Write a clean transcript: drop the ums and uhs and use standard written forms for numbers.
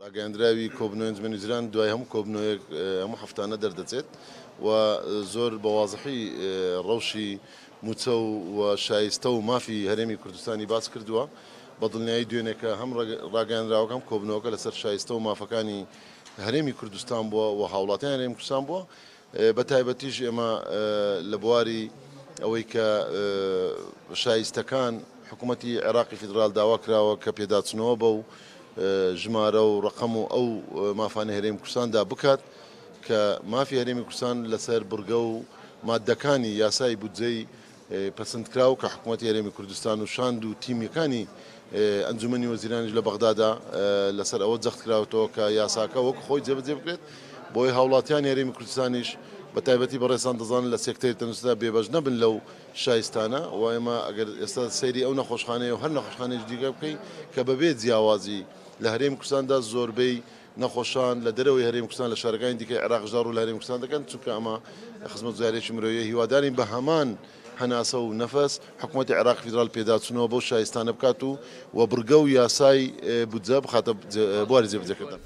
ڕاگەیاندراوی کۆبنەوەی ئەنجومەنی وەزیران دوای هەموو کۆبنەوەیەک هەموو هەفتانە دەردەچێت و زۆر بە وازحی ڕەوشی مووچە و شایستە و مافی هەرێمی کوردستانی باس کردووە. بە دڵنیایی دوێنێکە هەم ڕاگەیاندراوەکە هەم کۆبنەوەکە لەسەر شایستە و مافەکانی هەرێمی کوردستان بووە و هاوڵاتیانی هەرێمی کوردستان بووە. بە تایبەتیش ئێمە لە بواری ئەوەی کە شایستەکان حکوومەتی عێراقی فیدرال داوا کراوە کە پێداچنەوە بەو ژمارە و ڕقم و ئەو مافانەی هەرێمی کوردستاندا بکات کە مافی هەرێمی کوردستان لەسەر بڕگە و مادەکانی یاسای بودجەی پەسەندکراو کە حکوومەتی هەرێمی کوردستان و شاند و تیمیەکانی ئەنجومەنی وەزیرانیش لە بەغدادا لەسەر ئەوە جەخت کراوەتەوە کە یاساکە وەک خۆی جێبەجێ بکرێت بۆی هاوڵاتیانی هەرێمی کوردستانیش بە تایبەتی بەڕێزان دەزانن لە سێکتەری تەندروستیدا بێبەش نەبن لەو شایستانە و ئێمە ئەگەر ئێستا سەیری ئەو نەخۆشخانەیە و هەر نەخۆشخانەیەکی دیکە بکەین کە بەبێ جیاوازی لە هەرێمی کوردستاندا زۆربەی نەخۆشان لە دەرەوەی هەرێمی کوردستان لە شارەکانی دیکەی عێراقیشدا ڕوو لە هەرێمی کوردستان دەکەن، چونکە ئەمە خزمەتگوزارییەکی مرۆییە، هیوادارین بە هەمان هەناسە و نەفەس حکومەتی عێراقی فیدراڵ پێداچوونەوە بەو شایستانە بکات و و بڕگە و یاسای بودجە بخاتە بواری جێبەجێکردن.